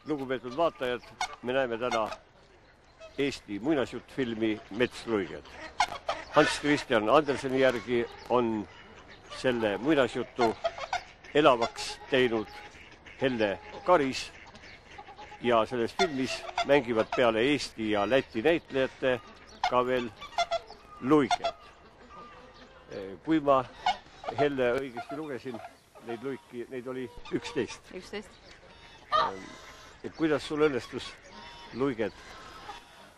Lugupeetud vaatajad, me näeme täna Eesti muinasjuttfilmi Metsluiged. Hans Christian Anderseni järgi on selle muinasjutu elavaks teinud Helle Karis ja selles filmis mängivad peale Eesti ja Läti näitlejate ka veel luiged. Kui ma Helle õigesti lugesin, neid oli 11. Kuidas sul õnnestus luiged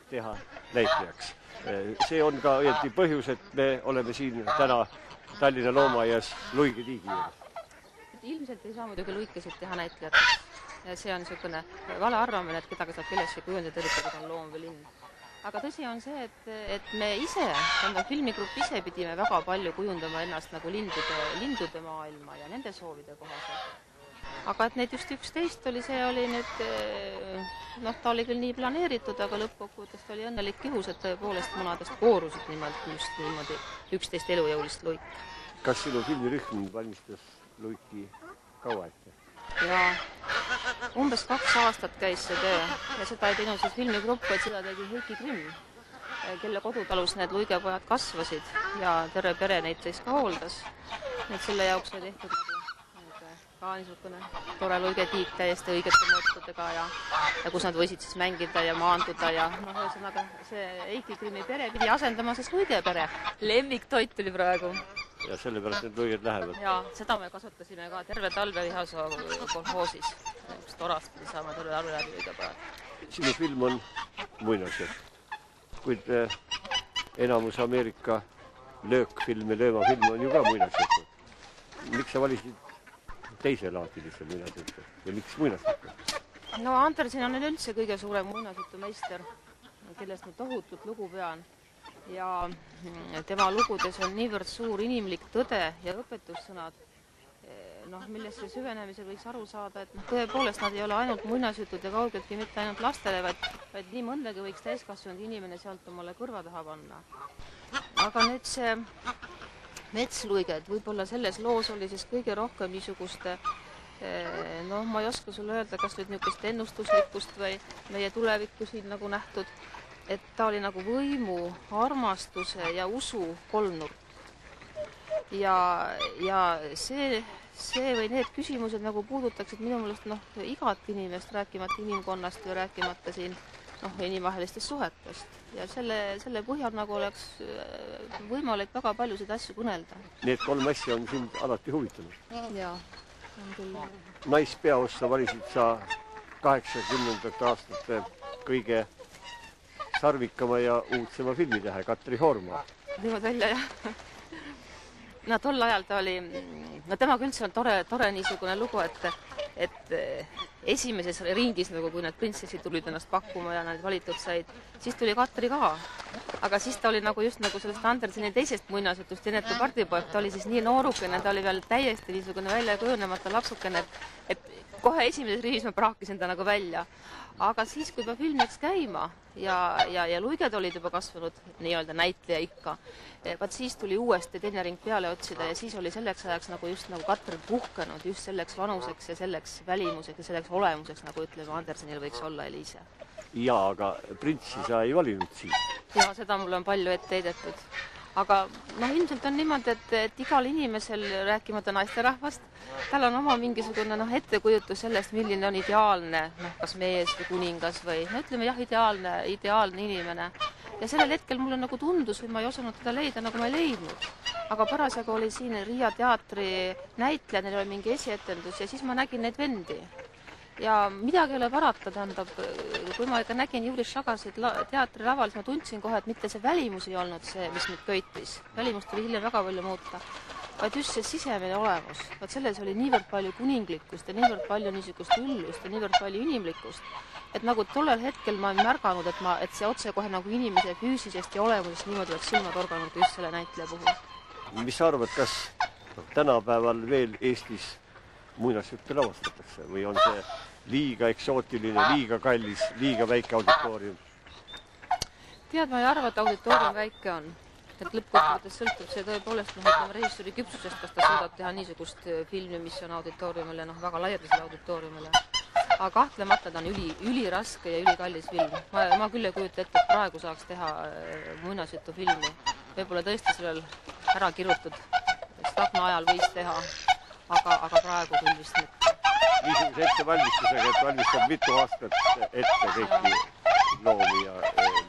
teha näitlejaks? See on ka õieti põhjus, et me oleme siin täna Tallinna loomaaias Luige tiigi juures. Ilmselt ei saa muidugi luikesid teha näitlejateks. See on niisugune vale arvamine, et kedagi saab kellestki kujundada, eriti kui ta on loom või lind. Aga tõsi on see, et me ise, filmigrupp ise pidime väga palju kujundama ennast nagu lindude maailma ja nende soovide kohaselt. Aga et neid just 11 oli, see oli nüüd, ta oli küll nii planeeritud, aga lõppkokkuvõttest oli õnnelik juhus, et tõepoolest munadest koorusid nimelt just niimoodi 11 elujõulist luiki. Kas sinu filmirühm valmistas luiki kaua ette? Jaa, umbes 2 aastat käis see töö ja seda ei teinud siis filmigrupp, vaid seda tegi Heiki Grimm, kelle kodutalus need luigepojad kasvasid ja terve pere neid siis ka hooldas. Need selle jaoks oli tehtud ka niisugune tore luigetiik täiesti õigete mõõtudega ja kus nad võisid siis mängida ja maanduda ja ühesõnaga see Heiki Grimmi pere pidi asendama siis luigepere. Lemmiktoit tuli praegu. Ja sellepärast need luiged lähevad. Ja seda me kasutasime ka terve talve Vihasoo kolhoosis. Torast pidi saama terve talve läbi luigepojad. Sinu film on muinasjutt, kuid enamus Ameerika löökfilm ja löömafilm on ju ka muinasjutt. Miks sa valisid teiselaadilise muinasjutu ja miks muinasjutu? No Andersen on üldse kõige suurem muinasjutu meister, kellest ma tohutult lugu pean. Ja tema lugudes on niivõrd suur inimlik tõde ja õpetussõnad, millesse süvenemisel võiks aru saada, et tõepoolest nad ei ole ainult muinasjutud ja kaugeltki mitte ainult lastele, vaid nii mõndagi võiks täiskasvanud inimene sealt omale kõrva taha panna. Aga nüüd see Metsluiged, võib-olla selles loos oli siis kõige rohkem niisuguste, ma ei oska sulle öelda, kas nüüd niisugust ennustuslikkust või meie tulevikku siin nagu nähtud, et ta oli nagu võimu, armastuse ja usu kolmnurk. Ja see või need küsimused nagu puudutaksid minu meelest igat inimest, rääkimata inimkonnast või rääkimata siin inimvahelistest suhetest. Ja selle põhjal nagu oleks võimalik väga paljusid asju kõnelda. Need 3 asja on sind alati huvitanud? Jaa, on küll. Naispeaossa valisid sa 80. aastate kõige sarvikama ja uudsema filmitähe, Katri Horma. Niimoodi välja, jah. Tol ajal ta oli, temaga üldse on tore niisugune lugu, et esimeses ringis, kui need printsessid tulid ennast pakkuma ja nad valitud said, siis tuli Katri ka. Aga siis ta oli just sellest Anderseni teisest muinasjutust Inetu pardipoeg, ta oli siis nii noorukene, ta oli veel täiesti niisugune välja kujunemata lapsukene, et kohe esimeses ringis ma praakisin ta nagu välja. Aga siis, kui juba film läks käima ja luiged olid juba kasvanud nii-öelda näitleja ikka, vaat siis tuli uuesti teine ring peale otsida ja siis oli selleks ajaks just nagu Katri puhkenud just selleks vanuseks ja selleks välimuseks ja selleks olemuseks, nagu ütleme, Andersenil võiks olla Eliise. Jaa, aga printsi sa ei valinud siin. Jaa, seda mul on palju ette heidetud. Aga ilmselt on niimoodi, et igal inimesel, rääkimata naisterahvast, tal on oma mingisugune ettekujutus sellest, milline on ideaalne, kas mees või kuningas või, ütleme jah, ideaalne inimene. Ja sellel hetkel mulle nagu tundus või ma ei osanud teda leida, nagu ma ei leidnud. Aga parasjagu oli siin Riia teatri näitleja, neil oli mingi esietendus ja siis ma nägin neid vendi. Ja midagi ei ole parata, tähendab, kui ma ikka nägin Juris Šagasid teatri laval, siis ma tundsin kohe, et mitte see välimus ei olnud see, mis mind köitis. Välimus tuli hiljem väga palju muuta. Vaid just see sisemine olemus. Vaat selles oli niivõrd palju kuninglikkust ja niivõrd palju niisugust üllust ja niivõrd palju inimlikkust. Et nagu tollel hetkel ma ei märganud, et see otse kohe nagu inimese füüsisest ja olemusest niimoodi oleks silmad organud just selle näitleja puhul. Mis sa arvad, kas tänapäeval veel Eestis muinasjutte lavastatakse või on see liiga eksootiline, liiga kallis, liiga väike auditoorium? Tead, ma ei arva, et auditoorium väike on. Et lõppkokkuvõttes sõltub see tõepoolest režissööri küpsusest, kas ta suudab teha niisugust filmi, mis on auditooriumile, väga laialdasele auditooriumile. aga kahtlemata ta on üliraske ja ülikallis film. Ma küll ei kujuta ette, et praegu saaks teha muinasjutufilmi. Võib-olla tõesti sellel ära kirutud Stagna ajal võis teha, aga praegu küll vist mitte. Niisuguse ettevalmistusega, et valmistab mitu aastat ette kõiki loomi ja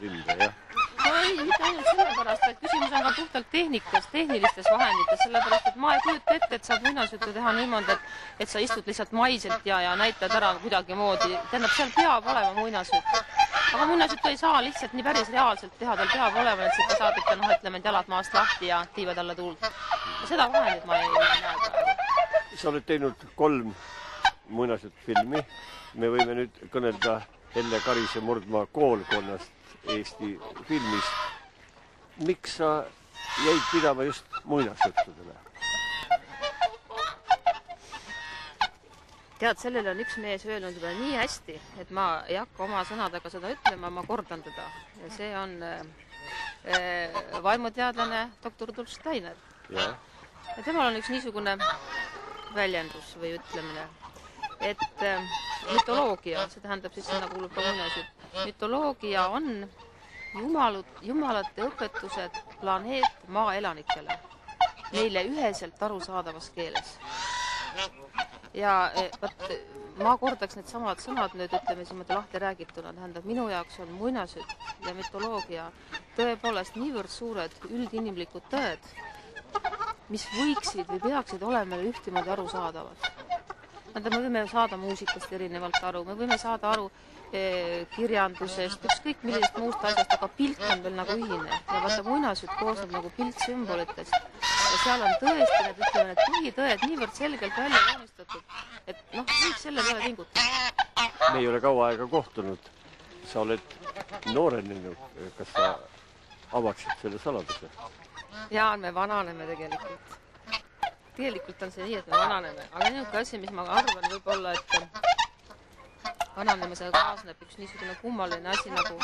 linde, jah? No ei, mitte ainult sellepärast, vaid küsimus on ka puhtalt tehnikas, tehnilistes vahendites, sellepärast, et ma ei kujuta ette, et saab muinasjuttu teha niimoodi, et sa istud lihtsalt maiselt ja näitad ära kuidagi moodi. Tähendab, seal peab olema muinasjutt. Aga muinasjuttu ei saa lihtsalt nii päris reaalselt teha, tal peab olema, et sa saad ikka, ütleme, et jalad maast lahti ja tiivad alla tuult. Seda vahendit ma ei näe praegu. Sa oled teinud 3 muinasjuttufilmi. Me võime nüüd kõnelda Helle Karise Murdmaa koolkonnast Eesti filmis. Miks sa jäid pidama just muinasjuttudele? Tead, sellele on üks mees öelnud juba nii hästi, et ma ei hakka oma sõnadega seda ütlema, ma kordan teda. Ja see on vaimuteadlane doktor Rudolf Steiner. Ja temal on üks niisugune väljendus või ütlemine, et mütoloogia, see tähendab siis, sinna kuulub ka muinasjutt. Mütoloogia on jumalate õpetused planeet maa elanikele, neile üheselt arusaadavas keeles. Ja ma kordaks need samad sõnad nüüd, ütleme siin lahti räägituna, tähendab, minu jaoks on muinasjutt ja mütoloogia tõepoolest niivõrd suured üldinimlikud tõed, mis võiksid või peaksid olema ühtemoodi arusaadavad. Me võime saada muusikast erinevalt aru, me võime saada aru kirjandusest, ükskõik millisest muust asjast, aga pilt on veel nagu ühine. Ja vaata, muinasjutt koosneb nagu piltsümbolitest. Ja seal on tõesti need, ütleme, need põhitõed niivõrd selgelt välja joonistatud, et kõik selle peale tingutab. Me ei ole kaua aega kohtunud. Sa oled noorenenud. Kas sa avaksid selle saladuse? Jaa, me vananeme tegelikult. Tegelikult on see nii, et me vananeme. Aga niisugune asi, mis ma arvan võib-olla, et vananemisega kaasneb üks niisugune kummaline asi nagu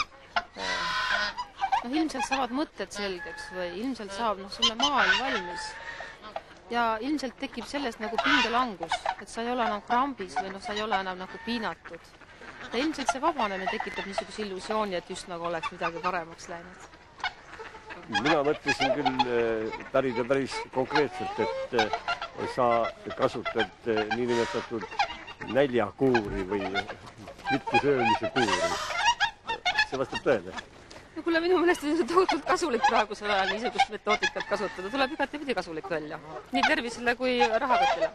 ilmselt saavad mõtted selgeks või ilmselt saab sulle maailm valmis. Ja ilmselt tekib sellest nagu pingelangus, et sa ei ole enam krambis või sa ei ole enam nagu piinatud. Ja ilmselt see vabanemine tekitab niisuguse illusiooni, et just nagu oleks midagi paremaks läinud. Mina mõtlesin küll päris konkreetselt, et sa kasutad niinimetatud näljakuuri või mittesöömise kuuri. See vastab tõele. No kuule, minu meelest on see tohutult kasulik praegusel ajal niisugust metoodikat kasutada. Tuleb igatepidi kasulik välja. Nii tervisele kui rahakotile.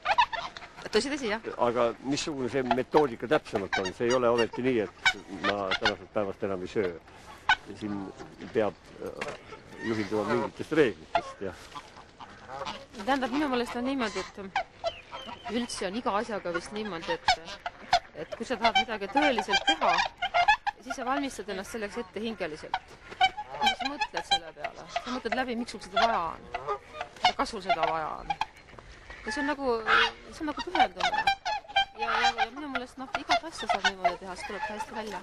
Tõsi, jah. Aga missugune see metoodika täpsemalt on? See ei ole ometi nii, et ma tänasest päevast enam ei söö. Siin peab juhinduma mingitest reeglitest, jah. Tähendab, minu meelest on niimoodi, et üldse on iga asjaga vist niimoodi, et kui sa tahad midagi tõeliselt teha, siis sa valmistad ennast selleks ette hingeliselt. Ja sa mõtled selle peale. Sa mõtled läbi, miks sul seda vaja on. Ja kas sul seda vaja on. Ja see on nagu pühendumine. Ja minu meelest igat asja saab niimoodi teha, see tuleb hästi välja.